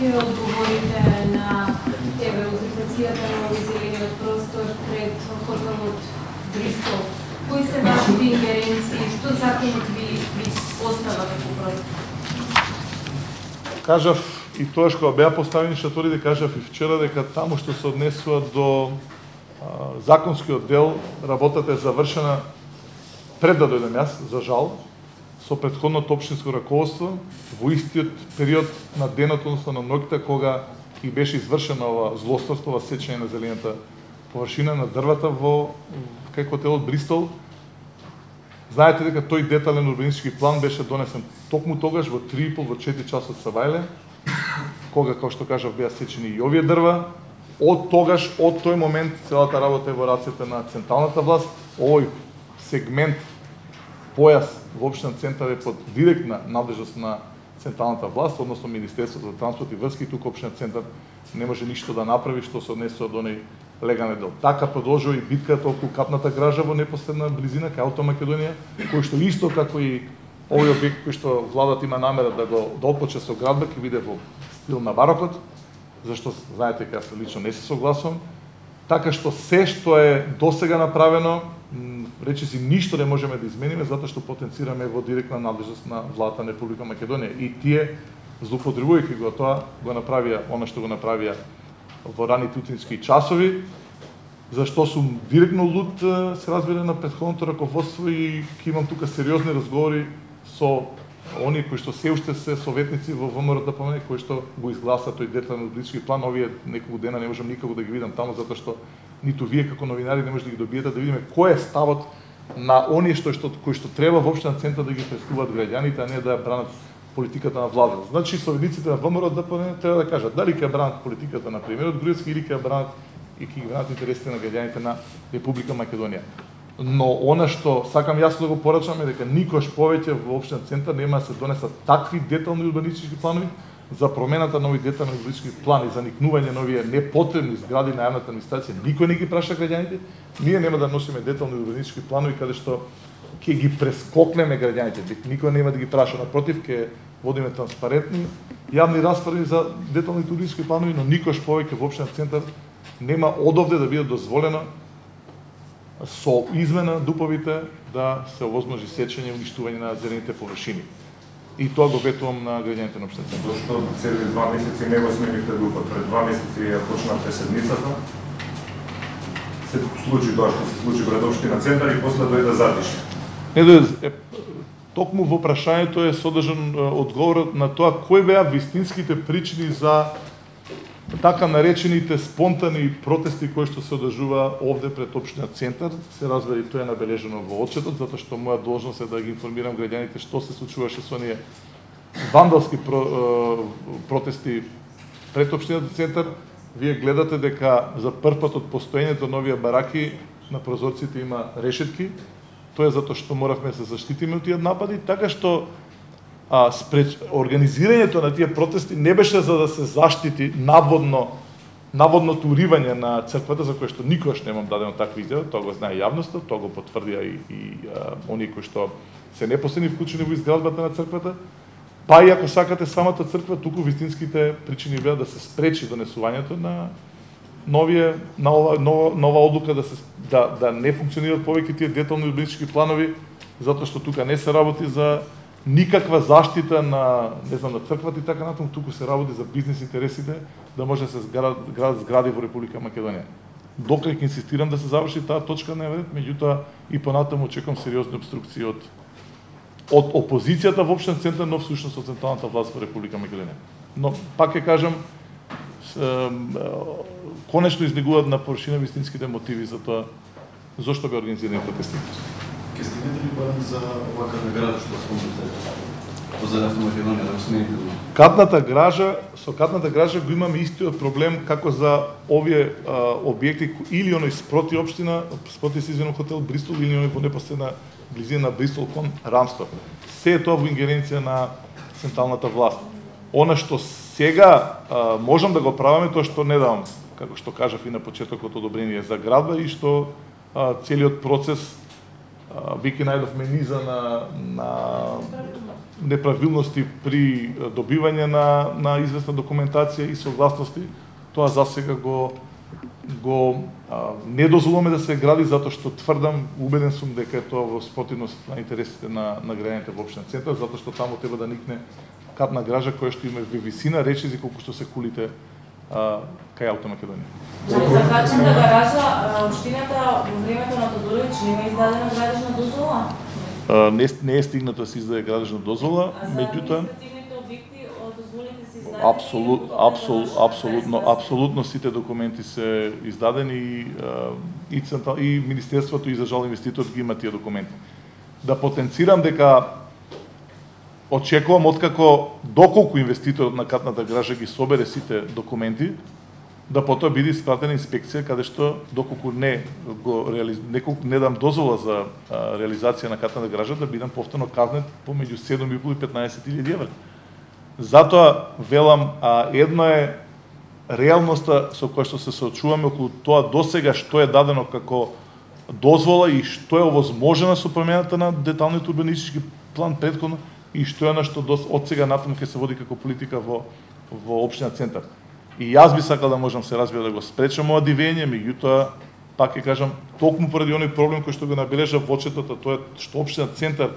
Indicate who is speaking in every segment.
Speaker 1: ќе одговорите на узурпацијата на овој зелениот простор пред хотелот Бристол? Кои се вашите ингеренции? Што законот ви остава како простор?
Speaker 2: Кажав и тоа што беа поставени шаторите, кажав и вчера дека таму што се однесува до законскиот дел, работата е завршена пред да дојдем јас, за жал, со претходното општинско раководство, во истиот период на денот, односно на ноќта, кога и беше извршено ова злосторство, ова сечење на зелената површина на дрвата во кај хотелот Бристол. Знаете дека тој детален урбанистички план беше донесен токму тогаш во 3,5 во 4 часот са вајле, кога, како што кажав, беа сечени и овие дрва. Од тогаш, од тој момент, целата работа е во рацете на централната власт. Овој сегмент, појас во општина Центар е под директна надлежност на централната власт, односно Министерството за транспорт и врски. Тука општина Центар не може ништо да направи што се однесува до оној легален дел. Така продолжува и битката околу капната гража во непосредна близина кај Автомакедонија, кој што исто како и овој објект кој што владата има намера да го отпочне со градба, ќе биде во стил на барокот, зашто знаете дека јас лично не се согласувам. Така што се што е досега направено, речиси ништо не можеме да измениме затоа што потенцираме во директна надлежност на владата на Република Македонија, и тие злоупотребувајќи го тоа го направија она што го направија во раните утински часови, зашто сум директно луд, се разбира, на претходното раководство, и ќе имам тука сериозни разговори со оние кои што се уште се советници во ВМРО-ДПМН, кои што го изгласа тој детален урбанистички план. Овие неколку дена не можам никако да ги видам таму, затоа што ниту вие како новинари не може да ги добиете, да видиме кој е ставот на оние кои што треба во општина Центар да ги представуваат граѓаните, а не да ја бранат политиката на владата. Значи, советниците на ВМРО-ДПМН треба да кажат дали ќе бранат политиката на премиерот Груевски или ќе бранат и ќе бранат интересите на граѓаните на Република Македонија. Но она што сакам јасно да го порачам е дека никош повеќе во општина Центар нема да се донесат такви детални урбанистички планови за промената на овој детални урбанистички план и за никнување на овие непотребни згради на јавната администрација. Никој не ги праша граѓаните. Ние нема да носиме детални урбанистички планови каде што ќе ги прескокнеме граѓаните. Никој нема да ги праша, напротив, ќе водиме транспарентни јавни расправи за деталните урбанистички планови, но никош повеќе во општина Центар нема одовде да биде дозволено со измена дуповите да се овозможи сечење и уништување на зелените површини. И тоа го ветувам на граѓаните на општина Центар.
Speaker 3: Зошто цели 2 месеци не го сменивте дупот? Пред 2 месеци ја почнавте седмицата. Се случи тоа што се случи пред општина Центар и после дојде затишје.
Speaker 2: Токму во прашањето е содржан одговорот на тоа кои беа вистинските причини за така наречените спонтани протести кои што се одржува овде пред општина Центар. Се разбери, тоа е набележено во отчетот, затоа што моја должност е да ги информирам граѓаните што се случуваше со оние вандалски протести пред општината Центар. Вие гледате дека за прв пат од постоењето на овие бараки на прозорците има решетки. Тоа е затоа што моравме да се заштитиме од тие напади, така што организирањето на тие протести не беше за да се заштити наводното уривање на црквата, за кое што никогаш немам дадено таква изјава, тоа го знае јавноста, тоа го потврдија и оние кои што се непосредни вклучени во изградбата на црквата. Па и ако сакате самата црква, туку вистинските причини беа да се спречи донесувањето на нова одлука да не функционираат повеќе тие детални урбанистички планови, затоа што тука не се работи за никаква заштита на на црквата и така натаму, туку се работи за бизнис интересите, да може да се градат згради во Република Македонија. Докрај ќе инсистирам да се заврши таа точка на дневен ред, меѓутоа и понатаму очекувам сериозни обструкции од опозицијата во општина Центар, но всушност од централната власт во Република Македонија. Но пак ќе кажам, конечно излегуваат на површина вистинските мотиви за тоа зошто бе организирани протестите.
Speaker 4: Ке стигнете ли барем за овака награда што спомнате за Автомакедонија да го смените?
Speaker 2: Со катната гража го имаме истиот проблем како за овие објекти или оној спроти општина, спроти Сизвено хотел Бристол или оној во непосредна близина на Бристол кон Рамстор. Се е тоа во ингеренција на централната власт. Она што сега можам да го правиме, тоа што не давам, како што кажав и на почетокот, одобрение за градба и што целиот процес вики најдовме низа неправилности при добивање на известна документација и согласности, тоа засега го не дозволуваме да се гради затоа што тврдам, убеден сум дека е тоа во спротивност на интересите на граѓаните во општина Центар, затоа што таму треба да никне катна гража која што има висина речизи колку што се кулите кај Автомакедонија.
Speaker 5: За качната гаража, општината во времето на Тодоровиќ нема издадена градежна дозвола?
Speaker 2: Не е стигнато да се издаде градежна дозвола, меѓутоа апсолутно сите документи се издадени и Министерството и за жал инвеститор ги има тие документи. Да потенцирам дека очекувам откако доколку инвеститорот на катната гража ги собере сите документи, да потоа биде испратена инспекција каде што доколку не дам дозвола за реализација на катната гража, да бидам повторно казнет помеѓу 7.500 и 15.000 евра. Затоа велам, едно е реалноста со која што се соочуваме околу тоа досега што е дадено како дозвола и што е овозможено со промената на деталниот урбанистички план претходно и што е што од сега натаму ќе се води како политика во општина Центар. И јас би сакал да можам се разбира да го спречам ова дивење, меѓутоа пак ќе кажам токму поради оној проблем кој што го набележав во отчетот, тоа е што општина Центар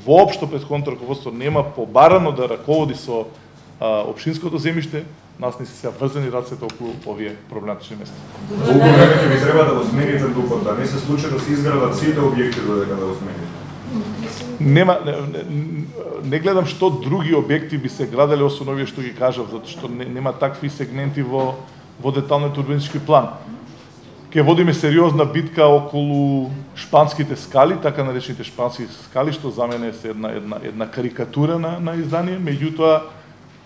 Speaker 2: воопшто претходното раководство нема побарано да раководи со општинското земјиште, нас не се врзани рацете околу овие проблематични места.
Speaker 3: Колку време ќе ви треба да го смените дупот, да не се случи да се изградат сите објекти додека да го смените?
Speaker 2: Не гледам што други објекти би се граделе освен овие што ги кажав, затоа што нема такви сегменти во деталниот урбанистички план. Ке водиме сериозна битка околу шпанските скали, така наречените шпански скали, што за мене е една карикатура на издание, меѓутоа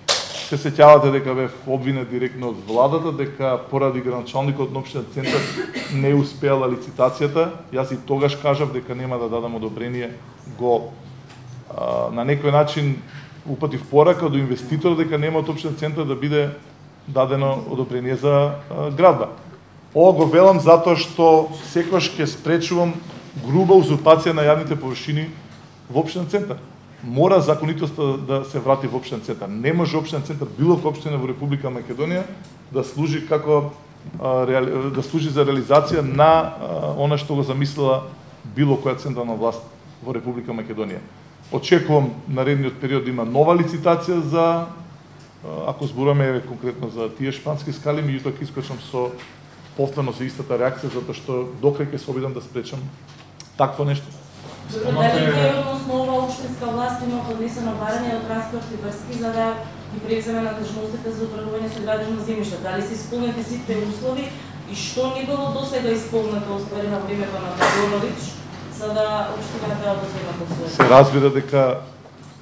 Speaker 2: се сеќавате дека бев обвинет директно од владата, дека поради граначалникот на општина Центар не успеала лицитацијата. Јас и тогаш кажав дека нема да дадам одобрение, на некој начин упатив порака до инвеститорот дека нема од општина Центар да биде дадено одобрение за градба. Ова го велам затоа што секогаш ќе спречувам груба узурпација на јавните површини во општина Центар. Мора законитоста да се врати во општина Центар. Не може општина Центар, било која општина во Република Македонија, да служи за реализација на она што го замислила било која централна власт во Република Македонија. Очекувам наредниот период да има нова лицитација за, ако зборуваме конкретно за тие шпански скали, меѓутоа ќе искочам со повторно со истата реакција, затоа што докрај ќе се обидам да спречам такво нешто.
Speaker 5: Дали односно ова општинска власт има поднесено барање од транспорт и врски за да ги превземе надежностите за управување со градежно земјиште? Дали се исполнети сите услови и што не било досега исполнето оствари на времето на Тодоровиќ за да општината одземе под свој?
Speaker 2: Се разбира дека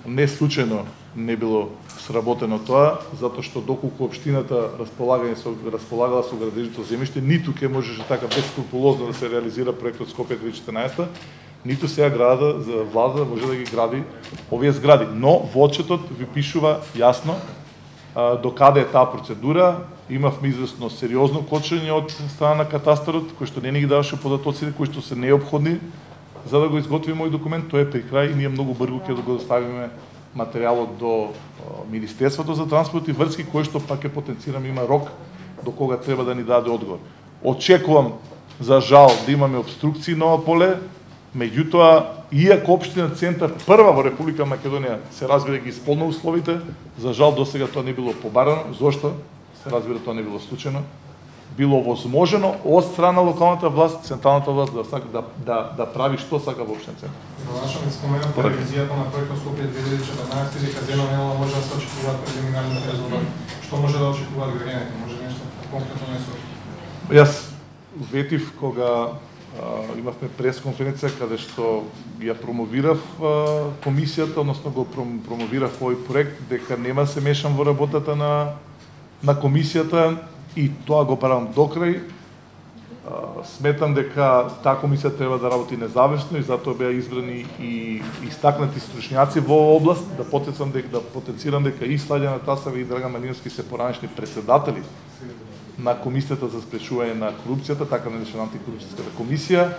Speaker 2: не случајно не било сработено тоа, затоа што доколку општината располагала со градежното земјиште, ниту ќе можеше така бескрупулозно да се реализира проектот Скопје 2014, ниту сега градата за влада може да ги гради овие згради. Но во отчетот ви пишува јасно до каде е таа процедура. Имавме известно сериозно кочење од страна на катастарот, кој што не ни ги даваше податоците кои што се неопходни за да го изготвиме овој документ. Тој е при крај и ние многу брзо ќе го доставиме материјалот до Министерството за транспорт и врски, кој што пак ќе потенцирам има рок до кога треба да ни даде одговор. Очекувам за жал да имаме обструкции на ова поле, меѓутоа иако општина Центар прва во Република Македонија се разбира ги исполнува условите, за жал досега тоа не било побарано. Зошто? Се разбира тоа не било случајно. Било возможено од страна локалната власт, централната власт да прави што сака во општина Центар.
Speaker 6: Завршаме спомената ревизијата на проектот Скопје 2014 дека за едно недела може да се очекуваат прелиминарните резултати. Што може да очекуваат граѓаните? Може нешто конкретно не се?
Speaker 2: Јас ветив кога имавме пресконференција каде што ја промовирав комисијата, односно го промовирав овој проект, дека нема се мешам во работата на комисијата и тоа го барам докрај. Сметам дека таа комисија треба да работи независно и затоа беа избрани и истакнати стручњаци во оваа област. Да потенцирам дека и Слаѓана Тасева и Драган Малиновски се поранешни претседатели на Комисијата за спречување на корупцијата, така наречена антикорупцијската комисија.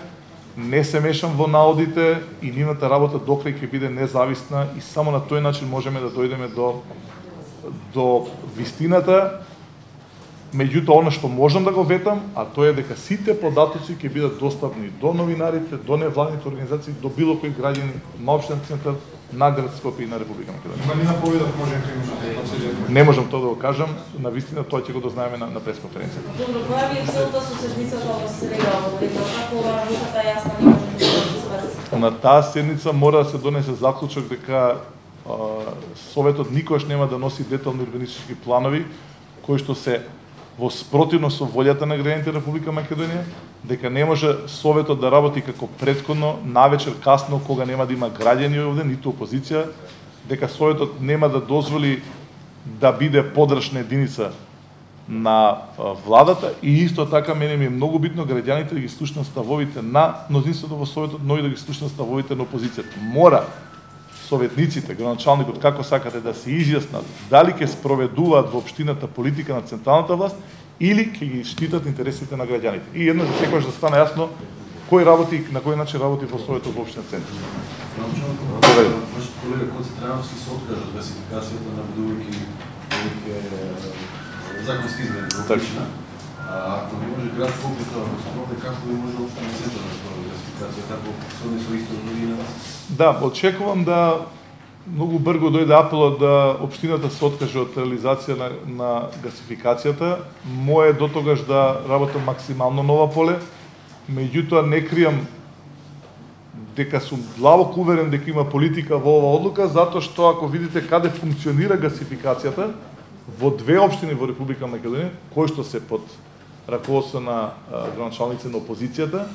Speaker 2: не се мешам во наодите и нивната работа докрај ќе биде независна и само на тој начин можеме да дојдеме до вистината. Меѓутоа, она што можам да го ветам, а тоа е дека сите податоци ќе бидат достапни до новинарите, до невладните организации, до било кој граѓанин на општинен центар, на град Скопје и на Република Македонија.
Speaker 6: Има ли наповедот може да
Speaker 2: Не можам тоа да го кажам, на вистина тоа ќе го дознаеме на пресконференцијата.
Speaker 5: Добро, која ви е целта со седницата во среда, како работата јасна не може да се сврши?
Speaker 2: На таа седница мора да се донесе заклучок дека Советот никогаш нема да носи детални урбанистички планови кои што се во спротивно со волјата на граѓаните Република Македонија, дека не може Советот да работи како претходно, навечер касно, кога нема да има граѓани овде, ниту опозиција, дека Советот нема да дозволи да биде подршна единица на владата и исто така мене ми е многу битно граѓаните да ги слушнат ставовите на мнозинството во Советот, но и да ги слушнат ставовите на опозицијата. Мора советниците, градоначалникот, како сакате да се изјаснат дали ќе спроведуваат во општината политика на централната власт или ќе ги штитат интересите на граѓаните. И еднаш за секогаш да стане јасно кој работи, на кој начин работи во Советот во општинен центар.
Speaker 4: Вашиот колега Коци Трајановски се откажа од гасификацијата на будувајќи законски измени во општина. Ако не може град Скопје тоа да спроведе, како не може општинен центар да спроведе гасификација, како со исто година?
Speaker 2: Да, очекувам да многу брзо дојде апелот да општината се откаже од реализација на гасификацијата. Моје до тогаш да работам максимално нова поле, меѓутоа не кријам дека сум длабоко уверен дека има политика во оваа одлука, затоа што ако видите каде функционира гасификацијата во две општини во Република Македонија, кои што се под раководство на градоначалници на опозицијата,